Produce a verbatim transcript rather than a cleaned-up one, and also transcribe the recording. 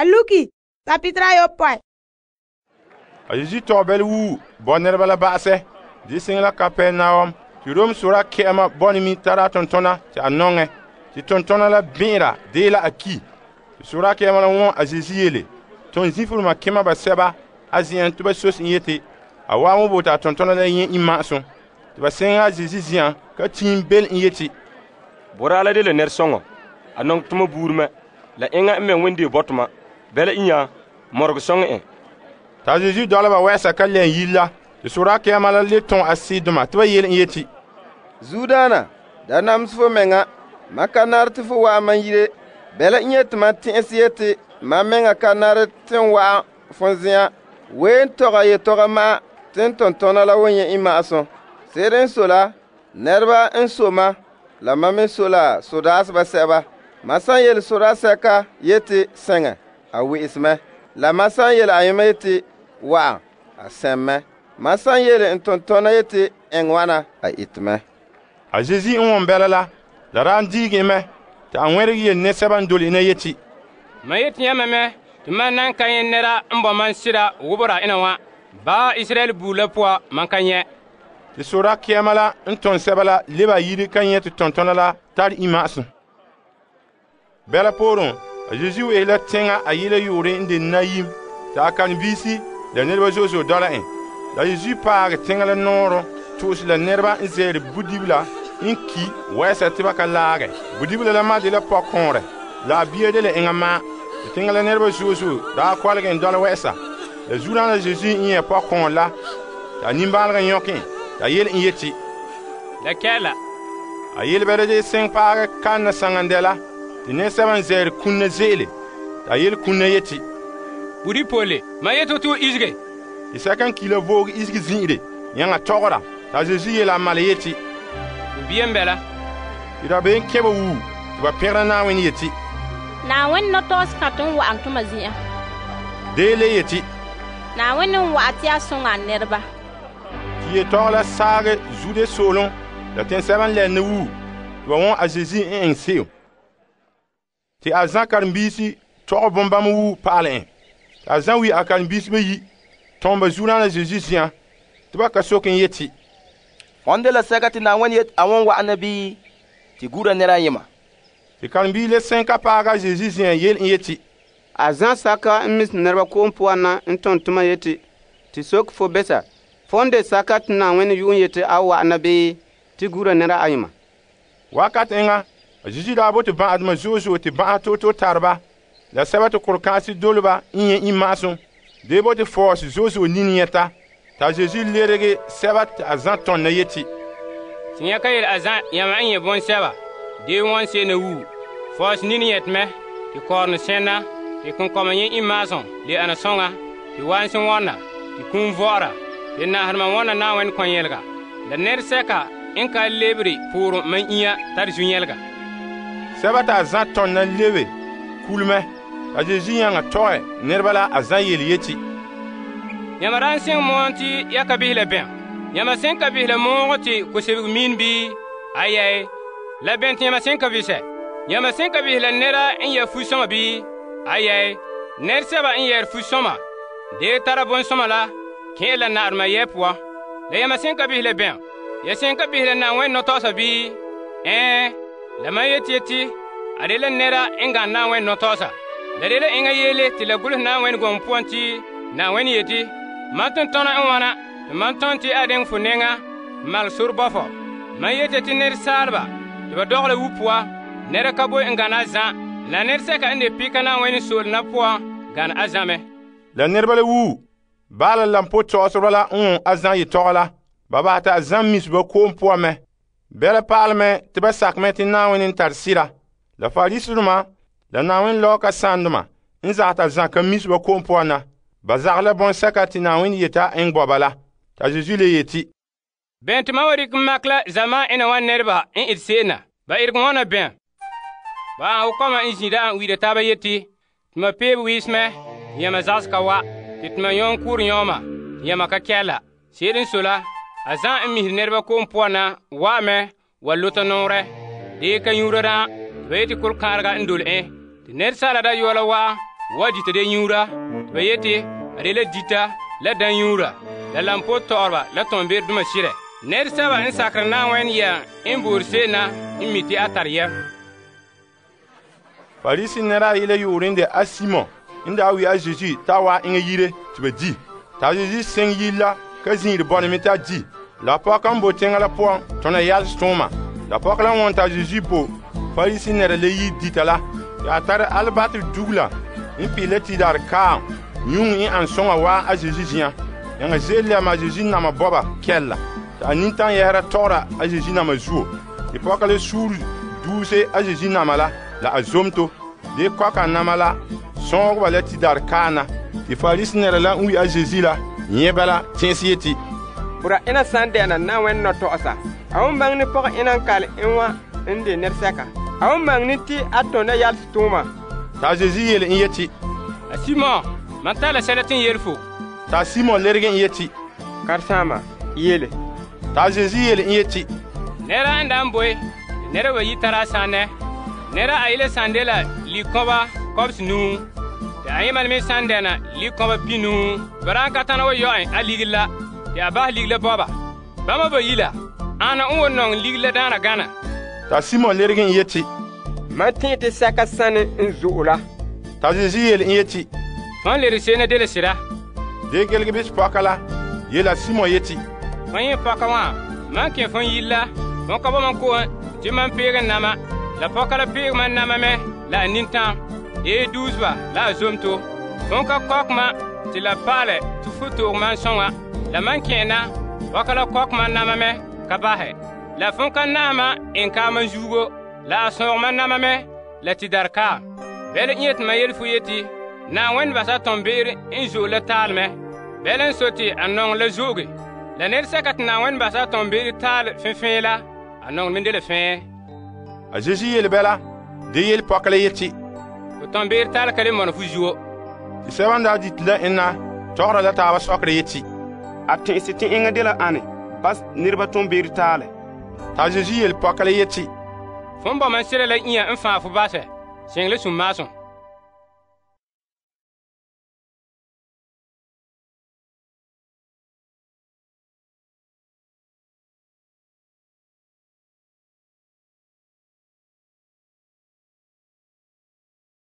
a luki la pitera ayopɔe. A Yesu tɔgɛ bɛle wuu bɔ nɛreba la ba'asɛ. Di siŋa la Kapernaum. Ti Rom sora kɛ'ɛma bɔne mi tara a tontona ti a nɔŋɛ. Ti tontona la bɛn'ɛra dee la a ki. Ti sora kɛ'ɛma la wɔn a Yesu yele. Ton zinfuluma kema basɛba a zen'an to ba sos n yeti a waa mo bota a tontona la yẽ imma'asum. Ti ba sɛŋa a Yesu zi'an ka tiim bel n yeti, Boraa la de la nɛresɔŋɔ. A nɔŋɛ toma buuri mɛ. La eŋa n mɛ wende bɔtoma. Bɛla inya mɔregɔ sɔŋɛ en. Ta Yesu dɔla ba wɛɛsa ka lɛn yile la. Ti sora kɛ'ɛma la le tɔn a sidoma ti ba yele n yeti, Zuodaana, da namse fo mɛŋa. Ma ka nare te fo wa'an man yire. Bɛla n yeti ma tɛn'ɛse yeti ma mɛŋa ka nare te n wa'an fon zen'an. Ween tɔga yetɔga ma'a te n tontona la wan nyɛ imma'asum. Se'ere n so la, nɛreba n so ma, la ma me so la sodaaseba sɛba. Ma san yele sodaasɛka yeti sɛŋɛ, a we'ese mɛ. La ma san yele ayema yeti wa'an, a sɛm mɛ. Ma san yele n tontona yeti eŋɛ wana, a ite mɛ. A Yesu n wɔn bɛla la, la daan diigi mɛ, ti a ŋmɛregɛ yele nɛsɛba n dole ina yeti, Ma yeti yãmɛ mɛ, ti man nan ka nyɛ nɛra n bɔ man sira wobora ina wa. Ba Israel buur la poa man ka nyɛ. Ti sora kɛɛma la n tɔn sɛba la leba yire ka nyɛ ti tontona la tare imma'asum. Bɛla pooren, a Yesu wehe la teŋa a yele yoore n de nayim, ti a karen-biisi la nɛreba zo'e zo'e dɔla en. La Yesu paagɛ teŋa la nɔɔrɔ to'ose la nɛreba n zɛɛre budibila n ki wɛɛsa ti ba ka laagɛ. Budibila la ma de la pɔkɔɔrɛ, la a bia de la eŋa maa. Ti teŋa la nɛreba zo'e zo'e daa kɔlegɛ n dɔla wɛɛsa. La zuuraan la Yesu n nyɛ pɔkɔɔrɛ la, ti a nimbaalega nyɔkɛ en, ti a yele n yeti, La kɛla. A yelebɛrɛ de seŋ paagɛ kanna saŋandɛ la, ti nɛresɛba n zɛɛre kunna ze'ele. Ti a yele kunna yeti, Budi pole, ma yeto to isge. Ti sɛka n ki la voog isege zin'ire, yãŋa tɔgɔra. Ti a Yesu yele a mala yeti, Biyan bɛla. Ti dabeem kɛba wuu, ti ba pɛgera Naawuni yeti, Naawuni nɔtɔɔse ka ton wa'an tuma zi'an. dee le yeti, Naawuni n wa'a ti a soŋa a nɛreba. Ti yetɔgɔ la saagɛ zude soolem la tɛnsɛba n lɛnne wuu, ti ba wɔn a Yesu n eŋɛ se'em. Ti a zã karen-biisi tɔgɔ bombam wuu pa'alɛ en. Ti a zã wi a karen-biisi bayi, tɔn ba zuuraan la Yesu zi'an, ti ba ka soke n yeti, Hon de la sɛka ti Naawuni yeti a wan wa'ana bii ti gura nɛra ayema. Ti karen-bii le sẽn ka paaga Yesu zi'an yele n yeti, A zã saka n mis nɛreba koom poan na n tõn tʋma yeti tɩ sok fo besa fo n de saka tɩ Naawuni yu'un yeti a wa'ana bii tɩ gura nɛra ayema. Wakat eŋa, a Yesu daa bote bã'adema zo'e zo'e tɩ bã'a to-to tarba, la sɛba tɩ kʋr-kãase doleba n yẽ imma'asum, dee bote fɔɔse zo'e zo'e nin yɛta. T'a Yesu lerege sɛba tɩ a zã tõnda yeti, Tɩ yã ka yel a zã yãmba n yẽ bõn-sɛba. Dee wãn seene wuu. Fɔɔs nin yɛtmɛ, tɩ kɔɔrene sẽnna, tɩ kõn-kɔma yẽ imma'asum le ana sõŋa, tɩ waanse wãna, tɩ kũum vɔ'ɔra, tɩ naasdema wãna Naawuni kõ-yɛlga. La nɛresɛka n ka lebre pʋʋrẽ man inya tare zu-yɛlga. Sɛba t'a zã tõnda lebe kulmɛ, t'a Yesu yãŋa tɔgɛ nɛreba la a zã yel yeti, Yãmba rãn sẽn moon tɩ ya ka bisɛ la bẽn. Yãmba sẽn ka bisɛ la moogɔ tɩ ko-sebg miin bii? Ayɛɛ, la bẽn tɩ yãmba sẽn ka bisɛ. Yãmba sẽn ka bisɛ la nɛra n yɛ fu-sõma bii? Ayɛɛ, nɛresɛba n yɛɛr fu-sõma. Dee tara bõn-sõma la kẽ la naadema yɛ poan. La yãmba sẽn ka bisɛ la bẽn. Ya sẽn ka bisɛ la Naawuni nɔtɔɔsa bii? Ɛɛ, la mam yeti yeti, a de la nɛra n gãn Naawuni nɔtɔɔsa. La de la eŋa yeele tɩ la gʋls Naawuni gɔŋɔ poan tɩ Naawuni yeti, mam tʋm-tɔna n wãna tɩ mam tõnd tɩ a dẽng fo nɛŋa n mal sor bɔ fɔ. Mam yeti tɩ nɛresaalba tɩ ba dɔgla wu poa, nɛra ka boe n gãna a zã, la nɛresɛka n de pɩka Naawuni soolena poan gãn a zã me. La nɛreba la wuu, baala la n po tɔgsereba la n wõ a zã yetɔgɔ la, ba basɛ t'a zã mis ba koom poan mɛ. Bɛla paalmɛ tɩ ba sakmɛ tɩ Naawuni n tar sɩda. La Farisidoma la Naawuni lɔɔka sãndema n zag t'a zã ka mis ba koom poan na. Ba zag la bõn-sɛka tɩ Naawuni yeta n gbɔba la. T'a Yesu le yeti, Bẽn tɩ mam wa rɩk n mak la zamaan ẽna wã nɛreba n et se'ena. Ba erg wãna bẽn. Ba an kɔma n zĩda n wiida taaba yeti, tɩ ma peeb wiismɛ, tɩ yãmba zagsga wa, tɩ tɩ ma yõon kʋʋr yõoma, tɩ yãmba ka kɛla. Se'ere n so la, a zã n misr nɛreba koom poan na wa'ame wa lota nɔɔrɛ. Dee ka yũura rã, tɩ ba yeti kʋl-kãarega n dole en, tɩ nɛresaala dayɔɔla wa wa dita de nyuura te ba yete a de la dita la dan nyuura la lampo tɔgɔreba la tɔnbeerdoma sirɛ. Nɛresɛba n sakere Na'ayenɛ yɛm n boore se'em na n mi te a tare yɛm. Farisi nɛra ayi la yu'urɛ n de a Simon n daa wi a Zeezi t'a wa eŋɛ yire te ba di. T'a Zeezi seŋ yire la ka zin'ire bɔna me t'a di. La pɔgɔ n bo teŋa la poan tɔna yalese tooma. La pɔgɔ la wɔn t'a Zeezi bo Farisi nɛra la yi dita la. Ya tare albatere dugula n pi la tidare kaam nyuŋ n an soŋa waa a Zeezi zi'an. Yaŋa ze'ele la ma Zeezi nama bɔba kɛlla. A nintan yɛhera tɔgɔra a Zeezi nama zuo. Te pɔka la suuri duuse a Zeezi nama la la a zomto. De kɔka nama la sɔɔgeba la tidare kaana. Te Farisi nɛra la n wi a Zeezi la nyɛ bala tẽese yeti. Bura ena san dɛna Na'ayenɛ nɔtɔgɔsa. A won baŋɛ ne pɔgɔ ena n kale en wa n de nɛresɛka. A won baŋɛ ne ti a tɔnda yalese tuuma. Ta Zeezi yele n yeti. A Simon, man tara la sɛla tin yele fo. Ta Simon lerege n yeti. Karesama, yele. Ta Zeezi yele n yeti. Nɛra n da n boe, nɛra wa yi tara a sãnɛ. Nɛra a yele san de la likɔba kɔbs nuu. Te a yẽmal me san dɛna likɔba pinuu. Bara n ka tãna wa yɔ en a ligiri la. Te a basɛ ligiri la bɔba. Bãmba ba yi la, ana n wa nɔŋ ligiri la daana gana. Ta Simon lerege n yeti. Man tẽ te sɛka sãne n zo'o la. Ta Zeezi yele n yeti. Fãn lere se'em na de la sɩda. De gelge bis pɔka la yela Simon yeti. Fãn yẽ pɔka wã, man kẽ fõn yiri la, fõn ka ba man ko'en tɩ man peeg nama. La pɔka la peeg man nama me la a nintãm. Yee duuseba la a zomto. Fõn ka kɔk ma tɩ la paalɛ tɩ fu toog man sõŋa. La man kẽ na, pɔka la kɔk man nama me ka basɛ. La fõn ka naama en ka man zuugo. La a sõog man nama me la tidare ka. Bɛle n yeti man yel fu yeti, Na'ayenɛ basa tɔnbeere n zo'e la taalmɛ. Bɛle n so tɩ a nɔŋɛ la zo'oge. La nɛresɛka tɩ Na'ayenɛ basa tɔnbeere taal fẽfẽe la, a nɔŋɛ me de la fẽe. A Zeezi yele bɛla, de yele pɔka la yeti. Fo tɔnbeere taal ka le mɔna fu zuo. Tɩ sɛba n daa dite la enna tɔgɔra la taaba sɔkere yeti. A tẽ'ese tɩ eŋa de la ane bas niraba tɔnbeere taale. T'a Zeezi yele pɔka la yeti. Fõn bɔ man sɩra la ĩa n fãa fo basɛ, sẽng la sũm-maasem.